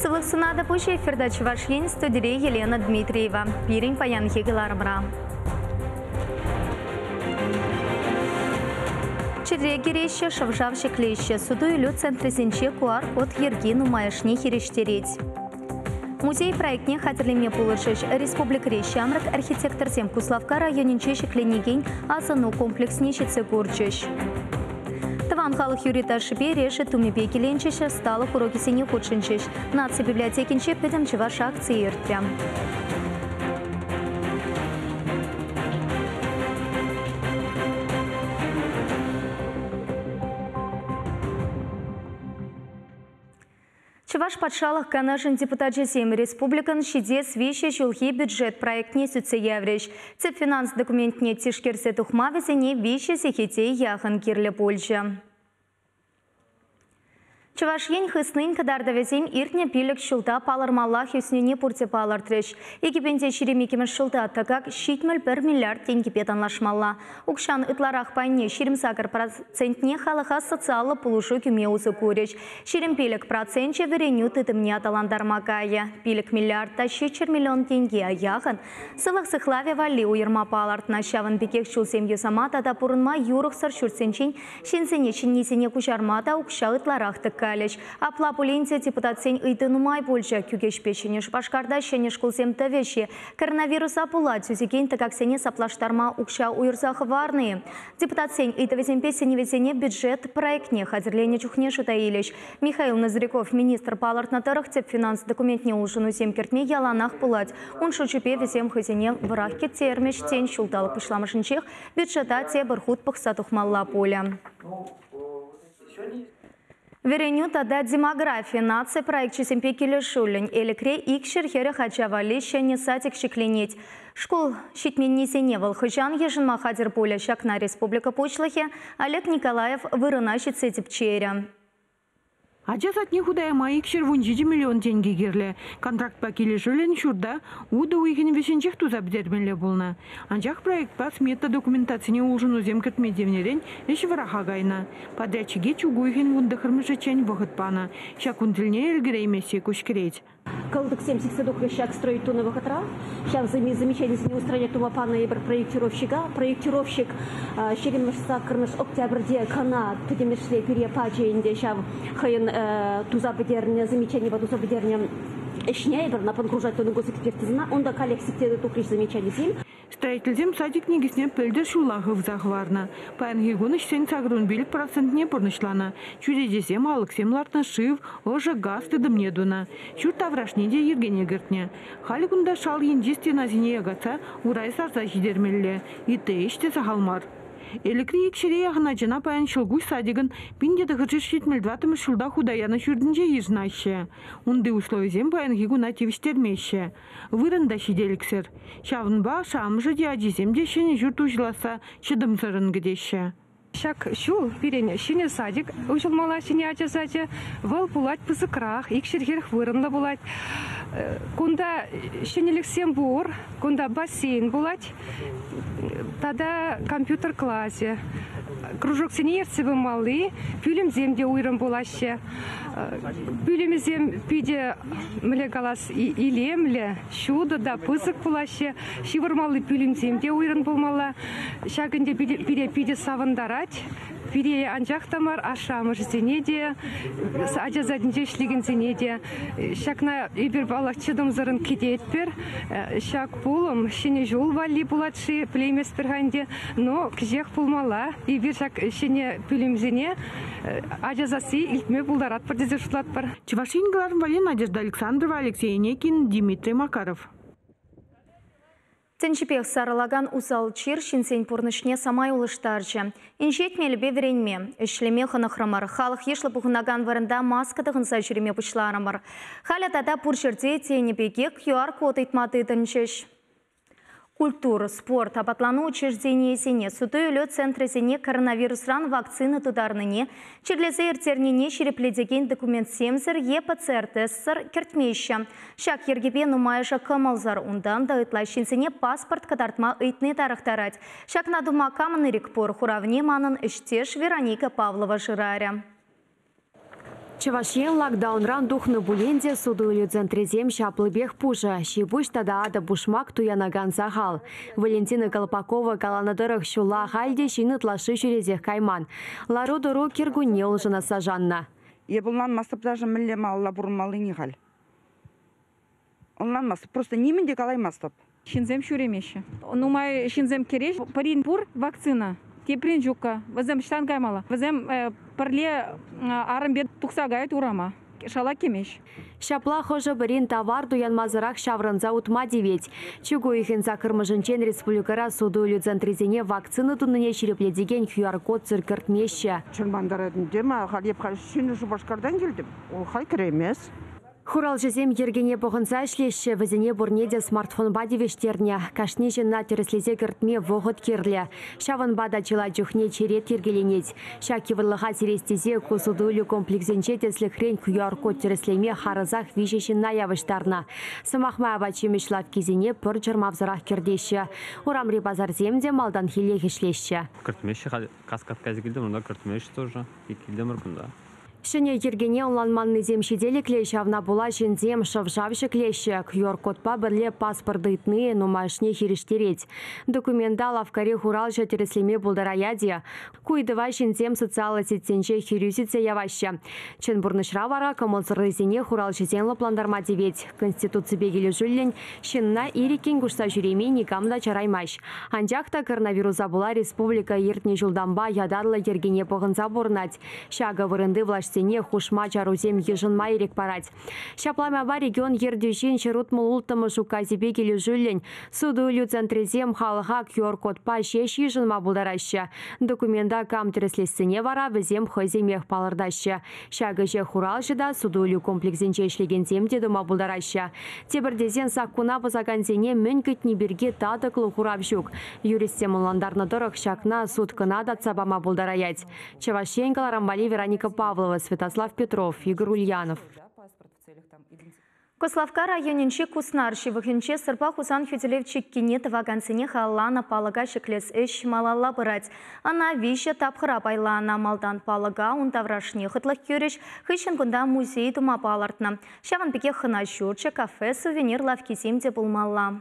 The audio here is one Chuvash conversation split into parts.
Сывлӑх сунатӑп, уҫӑ эфирта Чӑваш Ен, студире Елена Дмитриева. Пирӗн паянхи кӑларӑмра. Чӗре кӗреҫҫӗ, шӑв-шав ҫӗклеҫҫӗ. Суту-илӳ центрӗсенче QR-код йӗрки нумайӑшне хирӗҫтерет. Музей проектне хатӗрлеме пулӑшӗҫ. Республикӑри ҫамрӑк архитекторсем Куславкка районӗнче ҫӗкленекен асӑну комплексне ҫитсе курчӗҫ. Тӑван халӑх юрри-ташшипе решет тумӗпе киленчӗҫ, ӑсталӑх урокӗсене хутшӑнчӗҫ. Наци библиотекинче Пӗтӗм чӑваш акцийӗ иртрӗ. Чӑваш Патшалӑх Канашӗн депутачӗсем республикӑн ҫитес виҫӗ ҫулхи бюджет проектне сӳтсе яврӗҫ. Тӗп финанс документне тишкерсе тухма вӗсене виҫӗ сехете яхӑн кирлӗ пулчӗ. Чӑваш Ен хыснин кӑтартӑвӗсем иртнӗ пилӗк ҫулта палӑрмаллах ӳснине пурте палӑртрӗҫ. 2022 ҫулта тӑкак 71 миллиард тенкӗпе танлашмалла. Укҫан ытларах пайне 28 процентне халӑха социаллӑ пулӑшу кӳме усӑ курӗҫ. 25 проценчӗ вӗренӳ тытӑмне аталантарма кайӗ. 5 миллиард та 700 миллион тенке яхӑн сывлӑх сыхлавӗ валли уйӑрма палӑртнӑ. Ҫавӑн пекех ҫулсем юсама тата пурӑнма юрӑхсӑр ҫуртсенчен ҫынсене ҫӗннисене куҫарма та укҫа ытларах тӑккалӗҫ. Апла пулин те депутатсен ыйту нумай пулчӗ. Кӳкеҫпе Ҫӗнӗ Шупашкарта ҫӗнӗ шкулсем тӑвӗҫ-и? Коронавируса пула тӳсекен тӑкаксене саплаштарма укҫа уйӑрса хӑварнӑ-и? Депутатсен ыйтӑвӗсемпе сӗнӗвӗсене бюджет проектне хатӗрленӗ чухне шута илӗҫ. Михаил Ноздряков министр палӑртнӑ тӑрӑх тӗп финанс документне улшӑнусем кӗртме яланах пулать. Ун шучӗпе вӗсем хӑйсене вӑрах кӗттермӗҫ, тен, ҫулталӑк пуҫламӑшӗнчех бюджета тепӗр хут пӑхса тухмалла пулӗ. Вӗренӳ тата демографи наци проекчӗсемпе килӗшӳллӗн Элӗкре 240 ача валли ҫӗнӗ садик ҫӗкленет. Шкул ҫитменнисене вӑл хӑҫан йышӑнма хатӗр пулӗ, ҫакна республика Пуҫлӑхӗ Олег Николаев вырӑна ҫитсе тӗпчерӗ. Ача садне хута яма 217 миллион тенкӗ кирлӗ. Контрактпа килӗшӳллӗн ҫурта утӑ уйӑхӗн вӗҫӗнчех туса пӗтермелле пулнӑ. Анчах проектпа смета документацине улшӑнусем кӗртме тивнӗрен ӗҫ вӑраха кайнӑ. Подрядчике чӳк уйӑхӗн вунтӑххӑрмӗшӗччен вӑхӑт панӑ. Ҫак кун тӗлне ӗлкӗреймессе куҫкӗрет. Кӑлтӑксем сиксе тухрӗҫ ҫак строить тунӑ вӑхӑтра. Ҫав замечанисене устранять тума панӑ эпир проектировщика. Проектировщик ҫирӗммӗш саккӑрмӗш октябрьте кӑна пӗтӗмӗшле пире пачӗ ӗнтӗ ҫав хӑйӗн туса пӗтернӗ, замечанипе туса пӗтернӗ ӗҫне эпир ӑна погружать тунӑ госэкспертизӑна. Унта каллех сиксе тухрӗҫ замечанисем. Строительсем садик никӗсне пӗлтӗр ҫулла хывса хӑварнӑ. Паянхи кун ӗҫсен 85 процентне пурнӑҫланӑ. Чӳречесем, алӑксем лартнӑ, шыв, ӑшӑ, газ тытӑмне тунӑ. Ҫурт таврашне те йӗркене кӗртнӗ. Халӗ кунта шал енчи стенасене якатса урай сарса ҫитермелле. Ытти ӗҫ те сахал мар. Элӗкри икҫӗре яхӑн ачана паян Ҫӑлкуҫ садикӑн 1974 ҫулта хута янӑ ҫуртӗнче йышӑнаҫҫӗ. Унти условисем паянхи куна тивӗҫтермеҫҫӗ. Вырӑн та ҫителӗксӗр. Ҫавӑнпа ашшӗ-амӑшӗ те, ачисем те ҫӗнӗ ҫурт уҫӑласса чӑтӑмсӑррӑн кӗтеҫҫӗ. Ҫак ҫул пирӗн ҫӗнӗ садик уҫӑлмалла, ҫӗнӗ ача сачӗ. Вӑл пулать пысӑкрах, 240 вырӑнлӑ пулать. Кунта ҫӗнӗлӗхсем пур. Кунта бассейн пулать тата компьютер класӗ. Кружоксене ертсе пымалли пӳлӗмсем те уйрӑм пулаҫҫӗ. Пӳлӗмӗсем питӗ, мӗнле калас, илемлӗ, ҫутӑ та пысӑк пулаҫҫӗ. Ҫывӑрмалли пӳлӗмсем те уйрӑм пулмалла. Ҫак ӗнтӗ пире питӗ савӑнтарать. Пире анчах та мар, ашшӗ-амӑшӗсене те, ача садӗнче ӗҫлекенсене те. Ҫакна эпир, паллах, чӑтӑмсӑррӑн кӗтетпӗр. Ҫак пулӑм Ҫӗнӗ ҫул валли пулать-ши, пӗлейместпӗр-ха ӗнтӗ, но кӗҫех пулмалла. Эпир ҫак ҫӗнӗ пӳлӗмсене ача сасси илтме пултаратпӑр тесе шутлатпӑр. Чӑваш Ен кӑларӑм валли Надежда Александрова, Алексей Енекин, Дмитрий Макаров. Тӗнчипех сарӑлакан усал чир ҫынсен пурнӑҫне самай улӑштарчӗ. Инҫет мелӗпе вӗренме, ӗҫлеме хӑнӑхрӑмӑр. Халӑх йышлӑ пухӑнакан вырӑнта маска тӑхӑнса ҫӳреме пуҫларӑмӑр. Халӗ тата пур ҫӗрте тенӗ пекех QR-код ыйтма тытӑнчӗҫ. Культура, спорт, апатлану учрежденийӗсене, суту-илӳ центрӗсене коронавирусран вакцина тутарнине, чирлесе ирттернине ҫирӗплетекен документсемсӗр е ПЦР-тестсӑр кӗртмеҫҫӗ. Ҫак йӗркепе нумайӑшӗ кӑмӑлсӑр, унтан та ытла ҫынсене паспорт кӑтартма ыйтни тарӑхтарать. Ҫакна тума камӑн ирӗк пур, хуравне манӑн ӗҫтеш Вероника Павлова шырарӗ. Чӑваш Ен локдаунран тухнӑ пулин те суту-илӳ центрӗсем ҫаплипех пушӑ. Ҫи-пуҫ тата атӑ-пушмак туянакан сахал. Валентина Колпакова каланӑ тӑрӑх, ҫулла ахаль те ҫын ытлашши ҫӳресех кайман. Лару-тӑру кӗркунне улшӑнасса шаннӑ. Эп ӑнланмастӑп даже мӗнле малалла пурӑнмаллине халь. Ӑнланмастӑп, просто нимӗн те калаймастӑп. Ҫынсем ҫӳремеҫҫӗ. Нумай ҫынсем кӗреҫ. Пӗрин пур вакцина, теприн ҫуккӑ. Вӗсем ӑҫтан каймалла? Вӗсем пӗрле арӑмпе тухса каять урама. Шала кӗмест. Ҫапла хӑшӗ-пӗрин тавар туянмасӑрах ҫаврӑнса утма тивет. Чӳк уйӑхӗн саккӑрмӗшӗнчен республикӑра суту-илӳ центрӗсене вакцина тунине ҫирӗплетекен QR-кодсӑр кӗртмеҫҫӗ. Чӑрмантарать ӗнтӗ. Ма халь эп халь Ҫӗнӗ Шупашкартан килтӗм. Вӑл халь кӗреймест. Хуралҫӑсем йӗркене пӑхӑнса ӗҫлеҫҫӗ, вӗсене пурне те смартфонпа тивӗҫтернӗ. Кашни ҫынна тӗрӗслесе кӗртме вӑхӑт кирлӗ. Ҫавӑнпа та чылай чухне черет йӗркеленет. Ҫак йывӑрлӑха сирес тесе ку суту-илӳ комплексӗнче тӗслӗхрен QR-код тӗрӗслеме харӑсах виҫӗ ҫынна явӑҫтарнӑ. Сӑмах май апат-ҫимӗҫ лавккисене пӗр чӑрмавсӑрах кӗртеҫҫӗ. Урамри пасарсем те малтанхиллех ӗҫлеҫҫӗ. Кӗртмеҫҫӗ халь каскад кайса килтӗм, унта кӗртмеҫҫӗ тоже. Килтӗмӗр кунта. Ҫӗнӗ йӗркене ӑнланманнисем ҫителӗклӗ, ҫавна пула ҫынсем шӑв-шав ҫӗклеҫҫӗ. QR-кодпа пӗрле паспорт ыйтни нумайӑшне хирӗҫтерет. Документа лавккари хуралҫӑ тӗрӗслеме пултараять-и? Ку ыйтӑва ҫынсем социаллӑ сетьсенче хирӳ сӳтсе яваҫҫӗ. Чӑн пурнӑҫра вара кӑмӑлсӑррисене хуралҫӑсен лӑплантарма тивет. Конституципе килӗшӳллӗн ҫынна ирӗккӗн куҫса ҫӳреме никам та чараймасть. Анчах та коронавируса пула республика иртнӗ ҫултанпа ятарлӑ йӗркене пӑхӑнса пурӑнать. Ҫакӑ вырӑнти влаҫсене хушма чарусем йышӑнма ирӗк парать. Ҫапла майпа регион ертӳҫин 166-мӗш указӗпе килӗшӳллӗн суту-илӳ центрӗсем халӑха QR-кодпа ҫеҫ йышӑнма пултараҫҫӗ. Документа кам тӗрӗслессине вара вӗсем хӑйсемех палӑртаҫҫӗ. Ҫак ӗҫе хуралҫӑ та, суту-илӳ комплексӗнче ӗҫлекенсем те тума пултараҫҫӗ. Тепӗр тесен саккуна пӑсакансене мӗн кӗтни пирки татӑклӑ хурав ҫук. Юристсем ӑнлантарнӑ тӑрӑх ҫакна суд кӑна татса пама пултараять. Чӑваш Ен кӑларӑм валли Вероника Павлова, Святослав Петров, Игорь Ульянов. Куславкка районӗнчи Куснар ҫывӑхӗнче Сӑрпа Хусан хӳтӗлев чиккине тӑвакансене халалланӑ палӑка ҫӗклес ӗҫ малалла пырать. Ӑна виҫӗ тапхӑра пайланӑ. Малтан палӑка ун таврашне хӑтлӑх кӳрӗҫ, хыҫҫӑн кунта музей тума палӑртнӑ. Ҫавӑн пекех хӑна ҫурчӗ, кафе, сувенир лавккисем те пулмалла.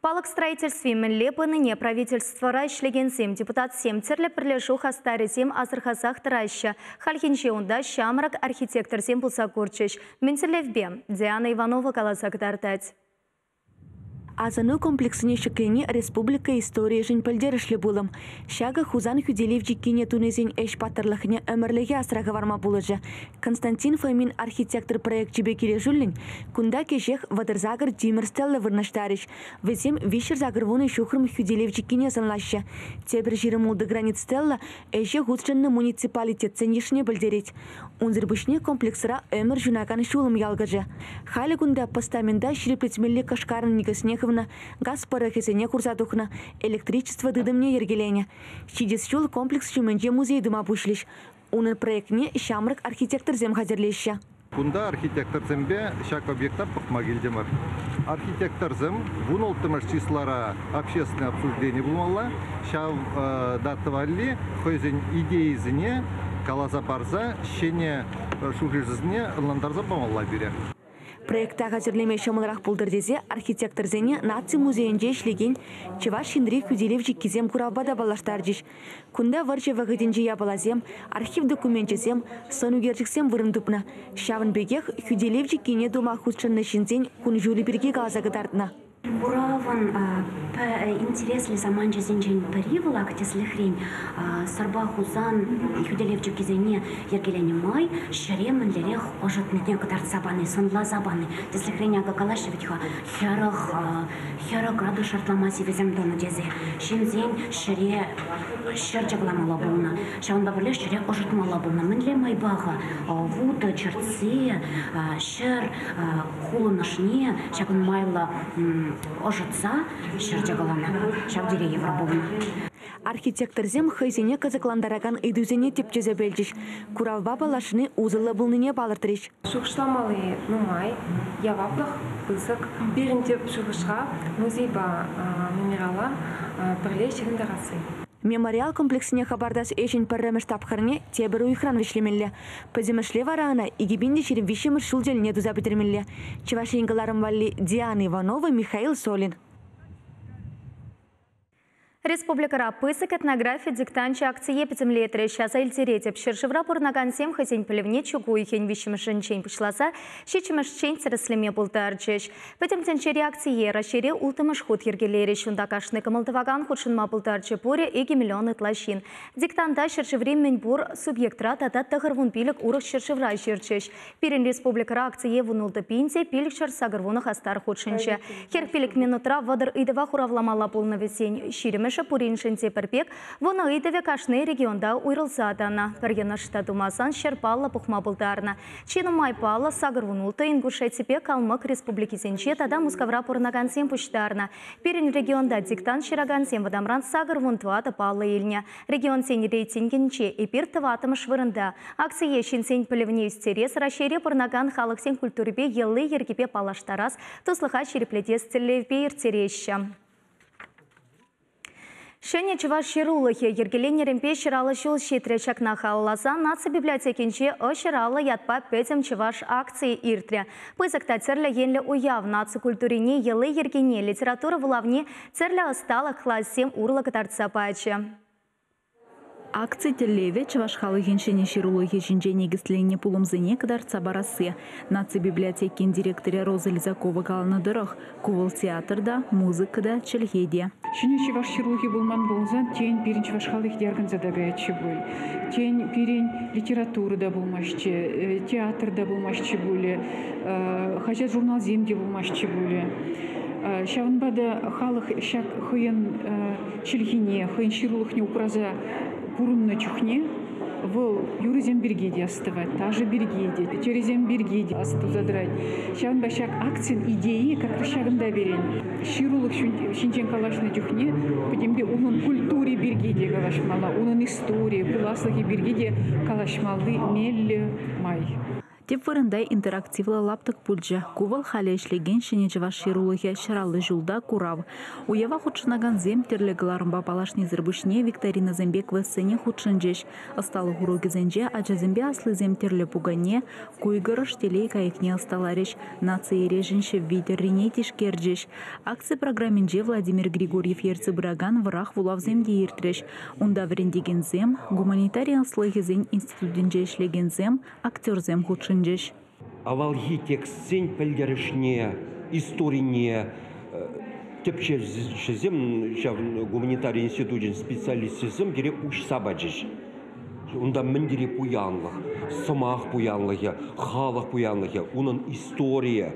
Палӑк строительстви мӗнле пынине правительствӑра ӗҫлекенсем, депутатсем, тӗрлӗ пӗрлешӳ хастарӗсем асӑрхасах тӑраҫҫӗ. Хальхинче унта ҫамрӑк архитекторсем пулса курчӗҫ. Мӗн тӗллевпе? Диана Иванова каласа кӑтартать. Асӑну комплексне ҫӗклени республика историйӗшӗн пӗлтерӗшлӗ пулӑм. Ҫакӑ Хусан хӳтӗлев чиккине тунисен ӗҫ паттӑрлӑхне ӗмӗрлӗхе асра хӑварма пулӑшӗ. Константин Фомин архитектор проекчӗпе килӗшӳллӗн кунта кӗҫех 38 тимӗр стелла вырнаҫтарӗҫ. Вӗсем 380 ҫухрӑм хӳтӗлев чиккине сӑнлаҫҫӗ. Тепӗр 26 гранит стелла ӗҫе хутшӑннӑ муниципалитетсен йышне пӗлтерет. Унсӑр пуҫне комплексра ӗмӗр ҫунакан ҫулӑм ялкӑшӗ. Халӗ кунта постамента ҫирӗплетмелли кӑшкарӑн никӗсне хывнӑ, газ пӑрӑхӗсене хурса тухнӑ, электричество тытӑмне йӗркеленӗ. Ҫитес ҫул комплекс ҫумӗнче музей тума пуҫлӗҫ. Унӑн проектне ҫамрӑк архитекторсем хатӗрлеҫҫӗ. Кунта архитекторсемпе ҫак объекта пӑхма килтӗмӗр. Архитекторсем 16-мӗш числара общественное обсуждение пулмалла. Ҫав дата валли хӑйсен идейисене каласа парса ҫӗнӗ шухӑшӗсене ӑнлантарса памалла пире. Проекта хатӗрлеме ҫӑмӑлрах пултӑр тесе архитекторсене Наци музейӗнче ӗҫлекен Чӑваш Енри хӳтӗлев чиккисем куравпа та паллаштарчӗҫ. Кунта вӑрҫӑ вӑхӑтӗнчи япаласем, архив докуменчӗсем, сӑн ӳкерчӗксем вырӑн тупнӑ. Ҫавӑн пекех хӳтӗлев чиккине тума хутшӑннӑ ҫынсен кун-ҫулӗ пирки каласа кӑтартнӑ. Куравӑн интереслӗ саманчӗсенчен пӗри вӑл ак тӗслӗхрен Сӑрпа Хусан хӳтӗлев чиккисене йӗркеленӗ май ҫӗре мӗнлерех ӑшӑтнине кӑтартса пани, сӑнласа пани. Тӗслӗхрен акӑ калаҫҫӗ вӗт-ха, 40 градус шартлама сивӗсем тӑнӑ тесе. Ҫынсен ҫӗре ҫӗр чӑкламалла пулнӑ, ҫавӑнпа пӗрлех ҫӗре ӑшӑтмалла пулнӑ. Мӗнле майпа-ха вутӑ чӗртсе ҫӗр хулӑнӑшне ҫакӑн майлӑ ӑшӑтса ҫӗр чӑкӑланӑ. Ҫав тери йывӑр пулнӑ. Архитекторсем хӑйсене кӑсӑклантаракан ыйтусене тӗпчесе пӗлчӗҫ, куравпа паллашни усӑллӑ пулнине палӑртрӗҫ. Шухӑшламалли нумай, яваплӑх пысӑк. Пирӗн тӗп шухӑшра музейпа мемориала пӗрле ҫыхӑнтарасси. Мемориал комплексне хӑпартас ӗҫӗн пӗрремӗш тапхӑрне тепӗр уйӑхран вӗҫлемелле. Пӗтӗмӗшле вара ӑна 2023 ҫул тӗлне туса пӗтермелле. Чӑваш Ен кӑларӑм валли Диана Иванова, Михаил Солин. Республикӑра пысӑк этнографи диктанчӗ акцие пӗтӗмлетрӗҫ. Аса илтеретӗп, ҫӗршывра пурӑнакансем хӑйсен пӗлӗвне чӳк уйӑхӗн виҫҫӗмӗшӗнчен пуҫласа ҫиччӗмӗшчен тӗрӗслеме пултарчӗҫ. Пӗтӗм тӗнчери акцие Раҫҫейре улттӑмӗш хут йӗркелерӗҫ. Унта кашни кӑмӑл тӑвакан хутшӑнма пултарчӗ. Пурӗ 2 миллион ытла ҫын. Диктанта ҫӗршыври мӗнпур субъектра тата 95 урӑх ҫӗршывра ҫырчӗҫ. Пирӗн республикӑра акцие 16 пин те 580 хастар хутшӑнчӗ. 45 минутра 30 ыйтӑва хуравламалла пулнӑ вӗсен. Ҫирӗмӗшӗ пуриншӗн те пӗр пек, вунӑ ыйтӑвӗ кашни регионта уйрӑлса тӑнӑ. Пӗр йӑнӑш та тумасан 100 паллӑ пухма пултарнӑ. Чи нумай паллӑ 86 Ингушетипе Калмӑк республикисенче тата Мускавра пурӑнакансем пуҫтарнӑ. Пирӗн регионта диктант ҫыракансем вӑтамран 84 паллӑ илнӗ. Регионсен рейтингӗнче эпир тӑваттӑмӗш вырӑнта. Акцие ҫынсен пӗлӗвне ӳстерес, Раҫҫейре пурӑнакан халӑхсен культурипе йӑли-йӗркипе паллаштарас, туслӑха ҫирӗплетес тӗллевпе ирттереҫҫӗ. Ҫӗнӗ чӑваш ҫырулӑхӗ йӗркеленнӗренпе 150 ҫул ҫитрӗ. Ҫакна халалласа наци библиотекинче «Ҫӗраллӑ» ятпа пӗтӗм чӑваш акцийӗ иртрӗ. Пысӑк та тӗрлӗ енлӗ уяв наци культурине, йӑли-йӗркине, литература вулавне тӗрлӗ ӑсталӑх классем урлӑ кӑтартса пачӗ. Акци тӗллевӗ чӑваш халӑхӗн ҫӗнӗ ҫырулӑхӗ ҫинче никӗсленнӗ пулӑмсене кӑтартса парасси. Наци библиотекин директорӗ Роза Лизакова каланӑ тӑрӑх, ку вӑл театр та, музыка та, чӗлхе те. Ҫӗнӗ чӑваш ҫырулӑхӗ пулман пулсан, тен, пирӗн чӑваш халӑхӗ те арканса та каятчӗ пуль. Тен, пирӗн литература та пулмастчӗ, театр та пулмастчӗ пулӗ, хаҫат-журналсем те пулмастчӗ пулӗ. Ҫавӑнпа та халӑх ҫак хӑйӗн чӗлхине, хӑйӗн ҫырулӑхне упраса пурӑннӑ чухне вӑл юрӑсем пирки те астӑвать, ташӑ пирки те, тӗрӗсем пирки те астуса тӑрать. Ҫавӑнпа ҫак акцин идейи как раз ҫакӑнта пирӗн. Ҫырулӑх ҫинчен калаҫнӑ чухне пӗтӗмпе унӑн культури пирки те калаҫмалла, унӑн историйӗ, пуласлӑхӗ пирки те калаҫмалли меллӗ май. Тӗп вырӑнта интерактивлӑ лаптӑк пулчӗ. Ку вӑл халӗ ӗҫлекен ҫӗнӗ чӑваш ҫырулӑхӗ 150 ҫулта курав. Уява хутшӑнакансем тӗрлӗ кӑларӑмпа паллашнисӗр пуҫне викторинӑсемпе квестсене хутшӑнчӗҫ. Ӑсталӑх урокӗсенче ачасемпе аслисем тӗрлӗ пукане, куйкӑрӑш телей кайӑкне ӑсталарӗҫ, наци эрешӗн ҫӗвви тӗррине тишкерчӗҫ. Акци программинче Владимир Григорьев ертсе пыракан вӑрах вулавсем те иртрӗҫ. Унта вӗрентекенсем, гуманитари ӑслӑхӗсен институтӗнче ӗҫлекенсем, актерсем хутшӑнчӗҫ. Авалхи текстсен пӗлтерӗшне, историне тӗпчевҫӗсем, ҫав гуманитари институчӗн специалисчӗсем пире уҫса пачӗҫ. Унта мӗн тери пуянлӑх, сӑмах пуянлӑхӗ, халӑх пуянлӑхӗ, унӑн историйӗ,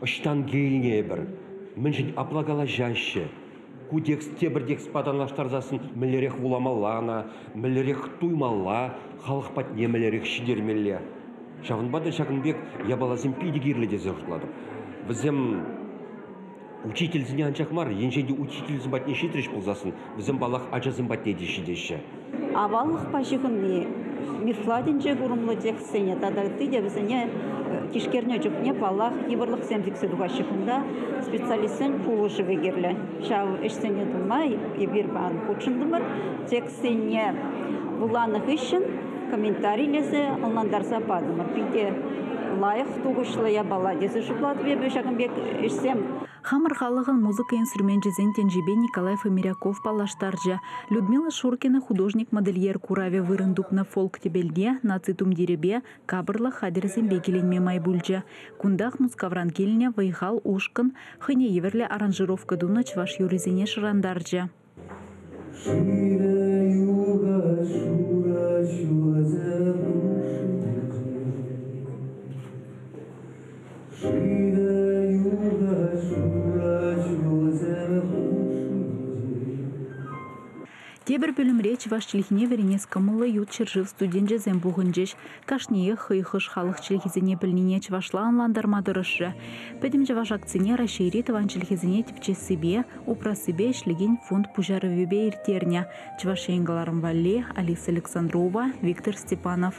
ӑҫтан килнӗ эпир, мӗншӗн апла калаҫаҫҫӗ. Ку текст тепӗр текстпа танлаштарсассӑн мӗнлерех вуламалла ӑна, мӗнлерех туймалла, халӑх патне мӗнлерех ҫитермелле. Ҫавӑнпа та ҫакӑн пек япаласем питӗ кирлӗ тесе шутлатӑп. Вӗсем учительсене анчах мар, енчен те учительсем патне ҫитрӗҫ пулсассӑн, вӗсем, паллах, ачасем патне те ҫитеҫҫӗ. Аваллӑхпа ҫыхӑнни мифла тӗнче курӑмлӑ текстсене тата ытти те вӗсене тишкернӗ чухне, паллах, йывӑрлӑхсем сиксе тухаҫҫӗ. Кунта специалистсен пулӑшӑвӗ кирлӗ. Ҫав ӗҫсене тума эпир паян хутшӑнтӑмӑр. Текстсене вуланӑ хыҫҫӑн комментарилесе ӑнлантарса патӑмӑр. Питӗ лайӑх, тухӑҫлӑ япала тесе шутлатӑп эпӗ ҫакӑн пек ӗҫсем. Хамӑр халӑхӑн музыка инструменчӗсен тӗнчипе Николай Фомиряков паллаштарчӗ. Людмила Шуркина художник-модельер куравӗ вырӑн тупнӑ фолк-тӗпелте наци тумтирӗпе, капӑрлӑх хатӗрӗсемпе киленме май пулчӗ. Кунтах Мускавран килнӗ вӑй-хал ушкӑн хӑйне евӗрлӗ аранжировка тунӑ чӑваш юррисене шӑрантарчӗ. Тепӗр пӳлӗмре чӑваш чӗлхине вӗренес кӑмӑллӑ ют ҫӗршыв студенчӗсем пухӑнчӗҫ. Кашниех хӑй хӑш халӑх чӗлхисене пӗлнине чӑвашла ӑнлантарма тӑрӑшрӗ. Пӗтӗм чӑваш акцине Раҫҫейри тӑван чӗлхесене тӗпчессипе, упрассипе ӗҫлекен фонд пуҫарӑвӗпе ирттернӗ. Чӑваш Ен кӑларӑм валли Алиса Александрова, Виктор Степанов.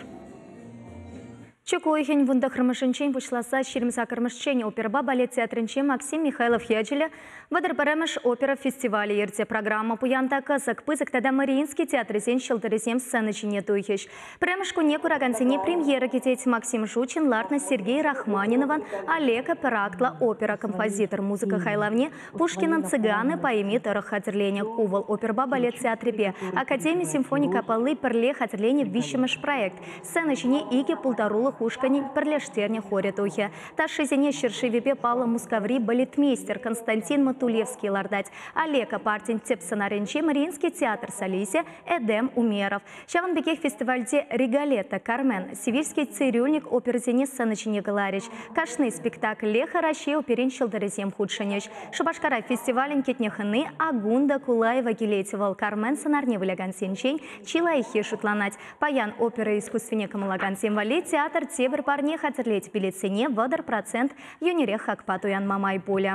Чӳк уйӑхӗн вунтӑххӑрмӗшӗнчен пуҫласа 28-мӗшчен оперӑпа балет театрӗнче Максим Михайлов ячӗллӗ 31-мӗш опера фестивалӗ иртӗ. Программа пуян та кӑсӑк, пысӑк тата Мариинский театрӗсен ҫӑлтӑрӗсем сцена ҫине тухӗҫ. Пӗрремӗш кунне куракансене премьера кӗтет. Максим Жучин лартнӑ Сергей Рахманиновӑн Олега пӗр актлӑ опера композитор музыка хайлавне Пушкинӑн «Цыганы» поэми тӑрӑх хатӗрленӗ. Ку вӑл оперӑпа балет театрӗпе Академи симфони капелли пӗрле хатӗрленӗ виҫҫӗмӗш проект. Сцена ҫине икӗ пултарулӑх ушкӑнӗн пӗрлештернӗ хорӗ тухӗ. Ташшисене ҫӗршывӗпе паллӑ Мускаври балетмейстер Константин Матулевский лартать. Олега партин тӗп сӑнарӗнче Мариинский театр солисчӗ Эдем Умеров. Ҫавӑн пекех фестивальте «Риголетто», «Кармен», «Севильский цирюльник» оперӑсене сцена ҫине кӑларӗҫ. Кашни спектаклех Раҫҫей оперин ҫӑлтӑрӗсем хутшӑнӗҫ. Шупашкара фестивалӗн кӗтнӗ хӑни Агунда Кулаева килет. Вӑл Кармен сӑнарне вылякансенчен чи лайӑххи шутланать. Паян опера искусствине кӑмӑллакансем валли театр тепӗр парне хатӗрлет. Билетсене 30% йӳнӗрех хакпа туянма май пулӗ.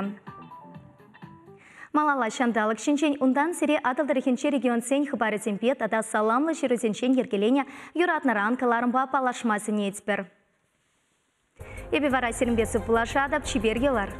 Малалла ҫанталӑк ҫинчен, унтан сире Атӑл тӑрӑхӗнчи регионсен хыпарӗсемпе тата саламлӑ ҫырусенчен йӗркеленӗ юратнӑран кӑларӑмпа паллашма сӗнетпӗр. Эпӗ вара сирӗнпе сывпуллашатӑп, чипер юлар.